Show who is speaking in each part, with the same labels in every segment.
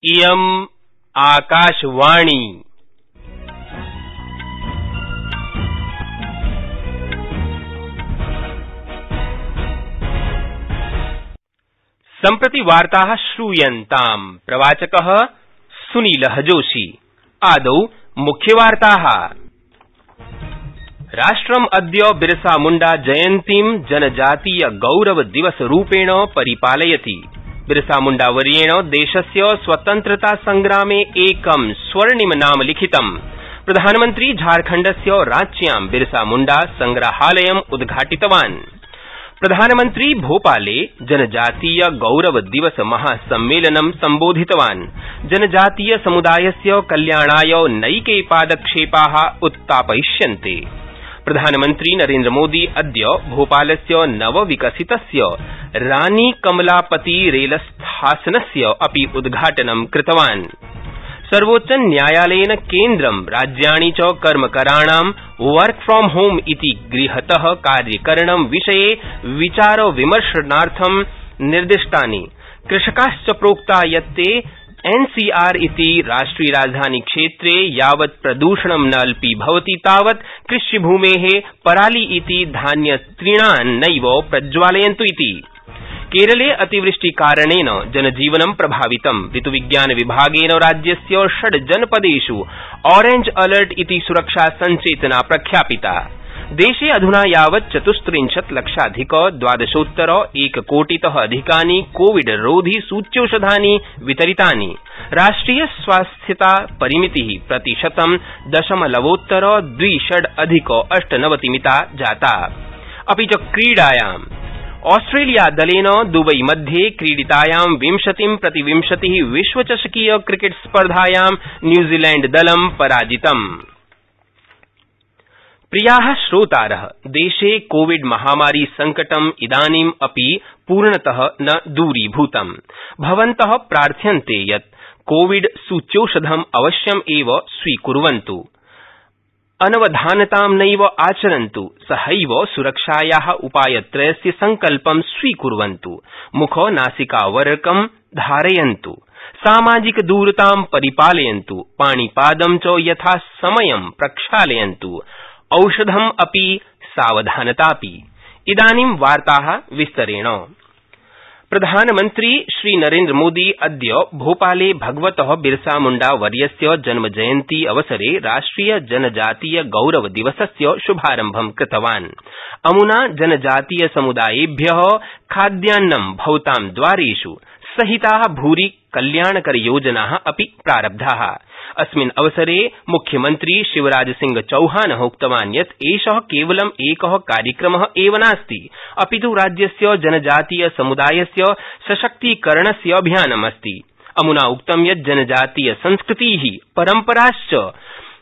Speaker 1: इयम् आकाशवाणी। सम्प्रति वार्ताः श्रूयन्ताम्। प्रवाचकः सुनीलः जोशी। आदौ मुख्यवार्ताः। राष्ट्रम् अद्य बिरसामुण्डा जयन्तीं जनजातीय गौरव दिवसरूपेण परिपालयति। बिरसामुण्डावर्येण देशस्य स्वतन्त्रता संग्रामे एकं स्वर्णिम नाम लिखितम्। प्रधानमन्त्री झारखण्डस्य रांच्यां बिरसामुण्डा संग्रहालयम् उद्घाटितवान्। प्रधानमन्त्री भोपाले जनजातीय गौरव दिवस महासम्मेलनं सम्बोधितवान्। जनजातीय समुदायस्य कल्याणाय नैके पादक्षेपा उत्थापयिष्यन्ते। प्रधानमन्त्री नरेन्द्रमोदी अद्य भोपालस्य नवविकसितस्य रानी कमलापति रेलस्थानस्य अपि उद्घाटनं कृतवान्। सर्वोच्चन्यायालयेन केन्द्रं राज्याणि च कर्मकराणां वर्क फ्रॉम होम इति गृहत कार्यकरणं विषये विचारविमर्शनार्थं निर्दिष्टानि। कृषकाश्च प्रोक्ता यत् ते एनसीआर इति राष्ट्रियराजधानीक्षेत्रे यावत् प्रदूषणं न अल्पीभवति तावत् कृष्यभूमेः पराली इति धान्यतृणान् नैव प्रज्वालयन्तु इति। केरले अतिवृष्टिकारणेन जनजीवनं प्रभावितम्। ऋतुविज्ञानविभागेन राज्यस्य 6 जनपदेष् ऑरेंज अलर्ट इति सुरक्षा संचेतना प्रख्यापिता। देशे अधुना यावत् 34 लक्षाधिक 12 एककोटितः अधिकानि कोविड रोधि सूच्यौषधानि वितरितानि। राष्ट्रिय स्वास्थ्यता परिमितिः प्रतिशतं 0.26 अधिक 98 मिता जाता। अपि च क्रीडायाम् ऑस्ट्रेलियादलेन दुबई मध्ये क्रीडितायां 20-20 विश्वचषकीय क्रिकेट स्पर्धायां न्यूजीलैण्डदलं पराजितम्। प्रियाः श्रोतारः, देशे कोविड महामारी संकटम् इदानीम् अपि पूर्णतः न दूरीभूतम्। भवन्तः प्रार्थ्यन्ते यत् कोविड सूच्यौषधम् अवश्यम् एव स्वीकुर्वन्तु, अनवधानतां नैव आचरन्तु, सहैव सुरक्षायाः उपायत्रयस्य संकल्पं स्वीकुर्वन्तु, मुख-नासिकावरकं धारयन्तु, सामाजिकदूरतां परिपालयन्तु, पाणिपादं च यथासमयं प्रक्षालयन्तु, औषधम् अपि सावधानतापि। इदानीं वार्ताः विस्तरेण। प्रधानमन्त्री श्रीनरेन्द्रमोदी अद्य भोपाले भगवतः बिरसामुण्डावर्यस्य जन्मजयन्ती अवसरे राष्ट्रिय जनजातीय गौरव दिवसस्य शुभारम्भं कृतवान्। अमुना जनजातीय समुदायेभ्यः खाद्यान्नं भवतां द्वारेष् सहिताः भूरि कल्याणकरयोजनाः अपि प्रारब्धाः। अस्मिन् अवसरे मुख्यमन्त्री शिवराजसिंह चौहानः उक्तवान् यत् एषः केवलं एकः कार्यक्रमः एव नास्ति, अपितु राज्यस्य जनजातीय समुदायस्य सशक्तीकरणस्य अभियानमस्ति। अमुना उक्तं यत् जनजातीय संस्कृतिः परम्पराश्च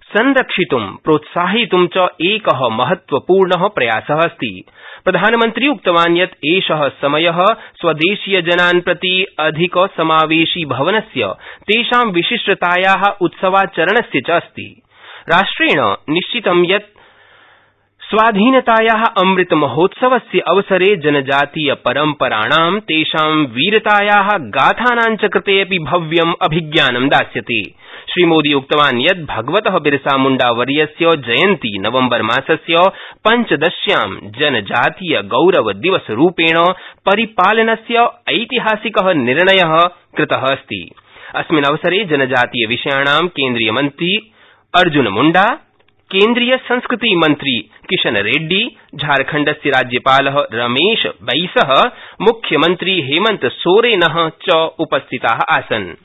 Speaker 1: संरक्षितुं प्रोत्साहयितुं च एकः महत्वपूर्णः प्रयासः अस्ति। प्रधानमन्त्री उक्तवान् यत् एषः समयः स्वदेशीयजनान् प्रति अधिकसमावेशी भवनस्य, तेषां विशिष्टतायाः उत्सवाचरणस्य च अस्ति। राष्ट्रेण निश्चितं यत् स्वाधीनतायाः अमृतमहोत्सवस्य अवसरे जनजातीय परम्पराणां, तेषां वीरतायाः गाथानां च कृते अपि भव्यम् अभिज्ञानं दास्यते। श्रीमोदी उक्तवान् यत् भगवतः बिरसामुण्डावर्यस्य जयन्ती नवम्बरमासस्य 15 जनजातीय गौरव दिवसरूपेण परिपालनस्य ऐतिहासिकः निर्णयः कृतः अस्ति। अस्मिन् अवसरे जनजातीय विषयाणां केन्द्रीयमन्त्री अर्जुनमुण्डा, केन्द्रीय संस्कृति मन्त्री किशन रेड्डी, झारखण्डस्य राज्यपालः रमेश बैसः, मुख्यमन्त्री हेमन्त सोरेनः च उपस्थिताः आसन्।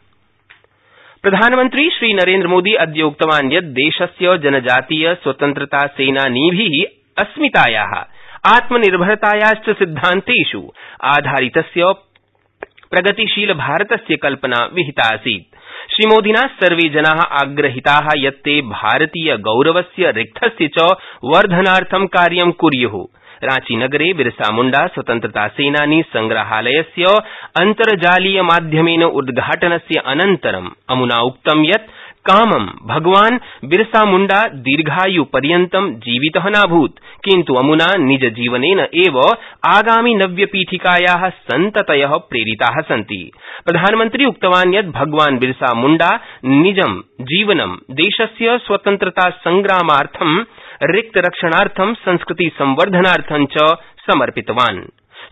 Speaker 1: प्रधानमन्त्री श्रीनरेन्द्रमोदी अद्य उक्तवान् यत् देशस्य जनजातीय स्वतन्त्रता सेनानीभिः अस्मितायाः, आत्मनिर्भरतायाश्च सिद्धान्तेष् आधारितस्य प्रगतिशील भारतस्य कल्पना विहिता आसीत्। श्रीमोदिना सर्वे जनाः आग्रहिताः यत् ते भारतीय गौरवस्य रिक्थस्य च वर्धनार्थं कार्यं कुर्युः। रांचीनगरे बिरसामुण्डा स्वतन्त्रतासेनानी संग्रहालयस्य अन्तर्जालीयमाध्यमेन उद्घाटनस्य अनन्तरं अमुना उक्तं यत् कामं भगवान बिरसा मुंडा दीर्घायुपर्यन्तं जीवितः नाभूत्, किन्तु अमुना निजजीवनेन एव आगामि नव्यपीठिकाया सन्ततय प्रेरिता सन्ति। प्रधानमन्त्री उक्तवान् यत् भगवान बिरसा मुंडा निजं जीवनं देशस्य स्वतन्त्रतासंग्रामार्थं, रिक्तरक्षणार्थं, संस्कृतिसंवर्धनार्थं च समर्पितवान्।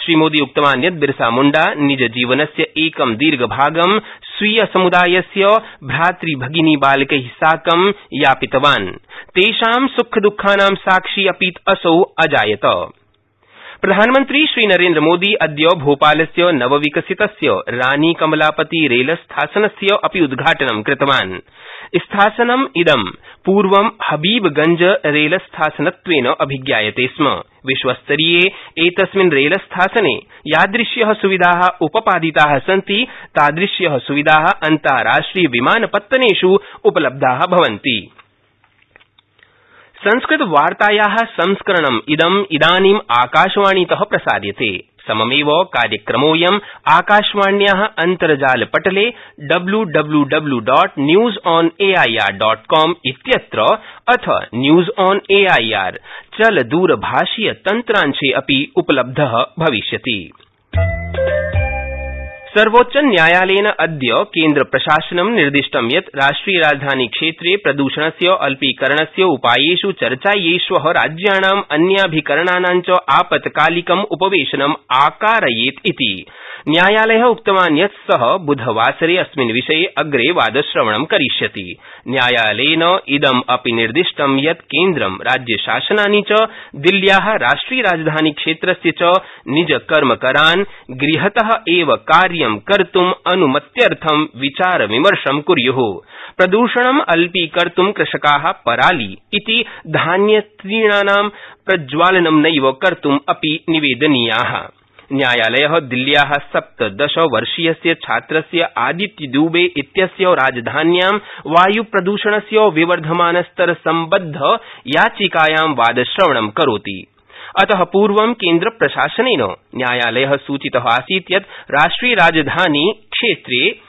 Speaker 1: श्रीमोदी उक्तवान् यत् बिरसा मुंडा निजजीवनस्य एकं दीर्घभागं स्वीयसमुदायस्य भ्रातृभगिनीबालकै साकं यापितवान्। तेषां सुखदुःखानां साक्षी अपि असौ अजायत। प्रधानमन्त्री श्रीनरेन्द्रमोदी अद्य भोपालस्य नवविकसितस्य रानी कमलापति रेलस्थानस्य अपि उद्घाटनं कृतवान्। स्थानम् इदं पूर्वं हबीबगंज रेलस्थानत्वेन अभिज्ञायते स्म। विश्वस्तरीये एतस्मिन् रेलस्थाने यादृश्य सुविधा उपपादिता सन्ति, तादृश्य सुविधा अन्ताराष्ट्रिय विमानपत्तनेष् उपलब्धा भवन्ति। संस्कृतवार्ताया संस्करणम् इदानीम् आकाशवाणीत प्रसार्यते। सममेव कार्यक्रमोऽयं आकाशवाण्या अन्तर्जालपटले www.newsonair.com इत्यत्र अथ न्यूज ऑन एआईआर चलदूरभाषीय तन्त्रांशे अपि उपलब्धः भविष्यति। सर्वोच्चन्यायालयेन अद्य केन्द्रप्रशासनं निर्दिष्टं यत् राष्ट्रियराजधानीक्षेत्रे प्रदूषणस्य अल्पीकरणस्य उपायेष् चर्चायै श्वः राज्याणाम् अन्याभिकरणानां च आपत्कालिकम् उपवेशनम् आकारयेत् इति। न्यायालयः उक्तवान् यत् सः बुधवासरे अस्मिन् विषये अग्रे वादश्रवणं करिष्यति। न्यायालयेन इदम् अपि निर्दिष्टं यत् केन्द्रं राज्यशासनानि च दिल्ल्या राष्ट्रियराजधानीक्षेत्रस्य च निजकर्मकरान् गृहतः एव कार्यं कर्तुम् अनुमत्यर्थं विचारविमर्शं कुर्युः। प्रदूषणम् अल्पीकर्तुं कृषकाः पराली इति धान्यतृणानां प्रज्वालनं नैव कर्तुम् अपि निवेदनीयाः। न्यायालयः दिल्ल्या 17-वर्षीयस्य छात्रस्य आदित्य दुबे इत्यस्य राजधान्यां वायुप्रदूषणस्य विवर्धमानस्तरसम्बद्ध याचिकायां वादश्रवणं करोति। अतः पूर्वं केन्द्रप्रशासनेन न्यायालयः सूचितः आसीत् यत् राष्ट्रियराजधानी क्षेत्रे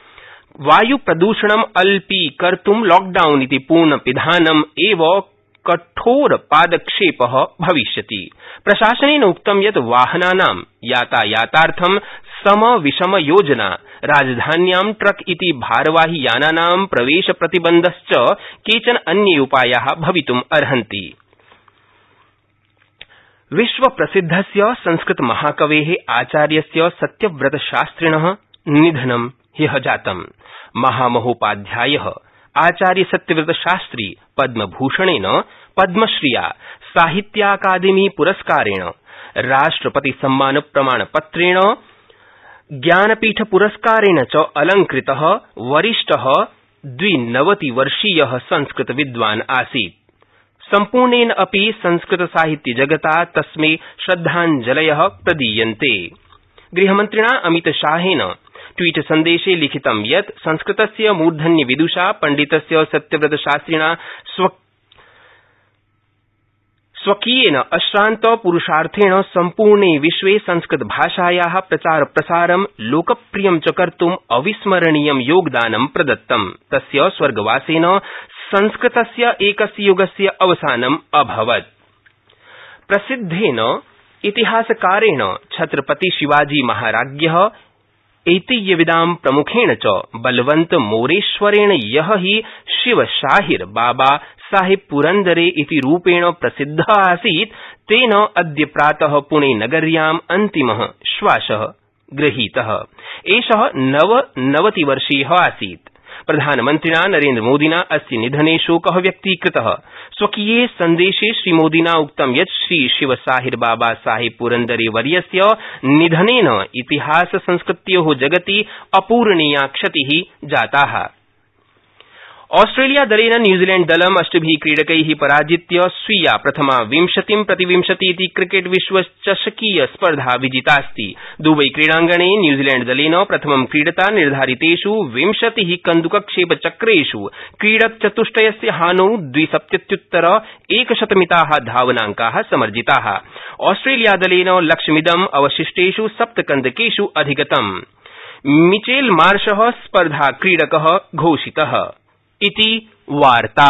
Speaker 1: वायुप्रदूषणम् अल्पीकर्तुं लॉकडाउन इति पूर्णपिधानम् एव कठोरपादक्षेपः भविष्यति। प्रशासनेन उक्तं यत् वाहनानां यातायातार्थं समविषमयोजना, राजधान्यां ट्रक इति भारवाहियानानां प्रवेशप्रतिबन्धश्च केचन अन्ये उपाया भवितुम् अर्हन्ति। विश्वप्रसिद्धस्य संस्कृतमहाकवेः आचार्यस्य सत्यव्रतशास्त्रिणः निधनं ह्यः जातम्। महामहोपाध्यायः आचार्य सत्यव्रतशास्त्री पद्मभूषणेन, पद्मश्रिया, साहित्याकादेमी पुरस्कारेण, राष्ट्रपतिसम्मानप्रमाणपत्रेण, ज्ञानपीठपुरस्कारेण च अलंकृतः वरिष्ठः 92-वर्षीयः संस्कृतविद्वान् आसीत्। सम्पूर्णेन अपि संस्कृतसाहित्यजगता तस्मै श्रद्धाञ्जलयः प्रदीयन्ते। गृहमन्त्रिणा अमितशाहेन ट्वीटसन्देशे लिखितं यत् संस्कृतस्य मूर्धन्यविदुषा पण्डितस्य सत्यव्रतशास्त्रिणा स्वकीयेन अश्रान्तपुरुषार्थेण सम्पूर्णे विश्वे संस्कृतभाषाया प्रचारप्रसारं लोकप्रियं च कर्तुम् अविस्मरणीयं योगदानं प्रदत्तम्। तस्य स्वर्गवासेन संस्कृतस्य एकस्य युगस्य अवसानम् अभवत्। प्रसिद्धेन इतिहासकारेण छत्रपति शिवाजी महाराज्ञः ऐतिह्यविदां प्रमुखेण च बलवन्त मोरेश्वरेण यः हि शिवशाहिर बाबा साहिब पुरन्दरे इति रूपेण प्रसिद्धः आसीत्, तेन अद्य प्रातः पुणेनगर्याम् अन्तिमः श्वासः गृहीतः। एषः 99-वर्षीयः आसीत्। प्रधानमन्त्रिणा नरेन्द्रमोदिना अस्य निधने शोकः व्यक्तीकृतः। स्वकीये सन्देशे श्रीमोदिना उक्तं यत् श्री शिवसाहिर बाबा साहिब पुरन्दरे वर्यस्य निधनेन इतिहाससंस्कृत्योः जगति अपूरणीया क्षतिः जाता। ऑस्ट्रेलियादलेन न्यूजीलैण्डदलं 8 क्रीडकै पराजित्य स्वीया प्रथमा 20-20 इति क्रिकेट विश्वचषकीय स्पर्धा विजितास्ति। दुबई क्रीडांगणे न्यूजीलैण्डदलेन प्रथमं क्रीडता निर्धारितेष् 20 कन्दुकक्षेपचक्रेष् क्रीडकचतुष्टयस्य हानौ 270-100मिताः धावनांकाः समर्जिताः। ऑस्ट्रेलियादलेन लक्ष्यमिदम् अवशिष्टेष् 7 कन्दकेष् अधिगतम्। मिचेल मार्शः स्पर्धाक्रीडकः घोषितः। इति वार्ता।